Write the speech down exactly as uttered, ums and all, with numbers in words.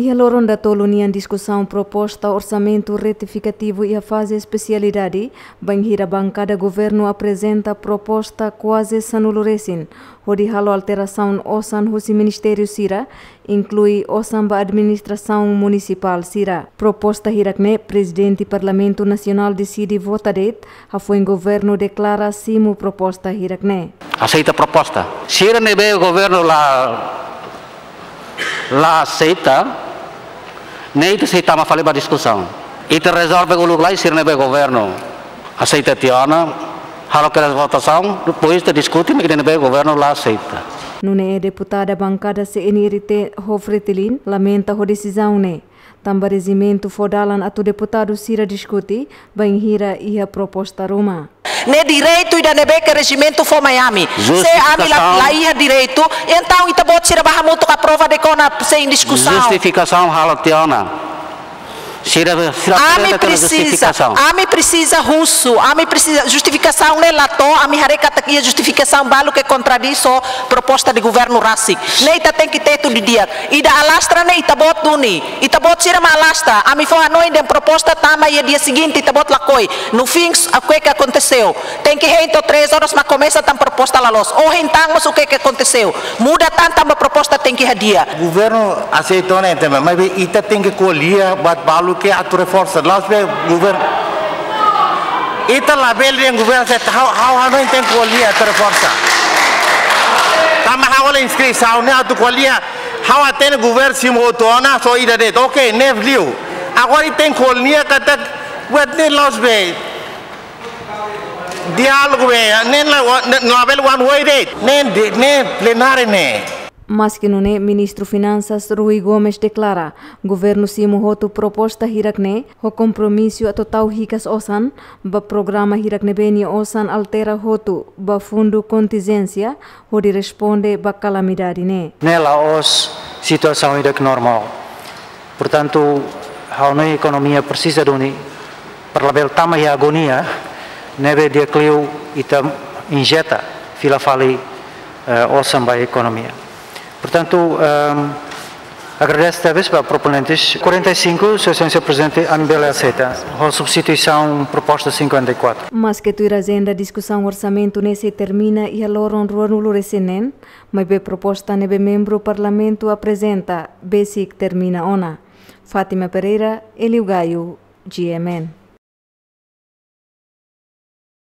Iha loron datolu nian diskusaun proposta orsamentu retifikativu iha faze espesialidade, bainhira bankada governu aprezenta proposta kuaze sanulu resin, hodi halo alterasaun osan husi ministériu sira, inklui osan ba administrasaun munisipál sira. Proposta hirak-ne'e, Prezidente Parlamentu Nasionál deside vota de'it, hafoin governu deklara simu proposta hirak-ne'e. Aseita proposta. Sira ne'ebé governu la, la aseita, ne'e ita sei tama fali ba diskusaun. Ita rezolve uluk lai, sira ne'ebé governu aseita tiha ona, halo kedas votasaun, depois ita diskute, mak ida ne'ebé governu la aseita. Nune'e deputada bankada C N R T Ho Fretilin lamenta ho desizaun ne'e. Tanba rejimentu fó dalan atu deputadu sira diskute, bainhira iha proposta ruma. Ne'e direitu ida ne'ebé ke rejimentu fó mai ami. Se ami la, justifikasaun, la iha direitu, entaun ita-boot sira bá hamutuk aprova de'it ona sein diskusaun. Justifikasaun halo tiha ona. Sira, sira Ami aprezenta tiha ona presiza, justifikasaun. Ami presiza husu, ami presiza justifikasaun ne'e la to'o, ami haree katak iha justifikasaun balu ke kontradís ho proposta de governu rasik. Ne'e ita tenke tetu didi'ak. Ida alastra ne'e ita-boot duni. Ita-boot sira mak alastra. Ami fó hanoin dehan proposta tama iha dia seguinte ita-boot lakohi. No fim, o que que aconteceu? Tenke hein to'o três horas mak komesa tan proposta la loos. Ohin tan mós o que que aconteceu? Muda tan tanba proposta tenke hadi'a. Governu aseita ona entaun, maibé ita tenke ko'alia buat balu ke atu reforsa. La'ós be governu. Ita labele dehan governu aseita, ha'u, ha'u hanoin tenke ko'alia atu reforsa. Tanba ha'u halo inskrisaun ne'e atu ko'alia. Ha'u hatene governu simu hotu ona, só ida de'it. Oke, ne'e liu. Agora ita tenke ko'alia katak buat ne'e la'ós be diálogu be, ne'e la, ne'e labele one way de'it. Ne'e, ne'e plenária ne'e. Maski nune'e, Ministru Finansas Rui Gomes deklara, governu simu hotu proposta hirak-ne'e, ho kompromisu atu tau hikas osan ba programa hirak ne'ebé nia osan altera hotu ba fundu kontinjénsia, hodi responde ba kalamidade ne'e. Ne'e la'ós situasaun ida ke normál. Portantu, ha'u hanoin ekonomia presiza duni, para labele tama iha agonia, ne'ebé di'ak liu ita injeta fila fali, eh, osan ba ekonomia. Portantu, ehm, agradese tebes ba proponentes. Quarenta e cinco, Sua Exelénsia Prezidente, ami bele aseita. Ho substituisaun proposta cinquenta e quatro. Maski tuir ajenda diskusaun orsamentu ne'e sei termina iha loron ruanulu resin neen, maibé proposta ne'ebé membru Parlamentu aprezenta besik termina ona. Fátima Pereira, Elio Gaio, G M N.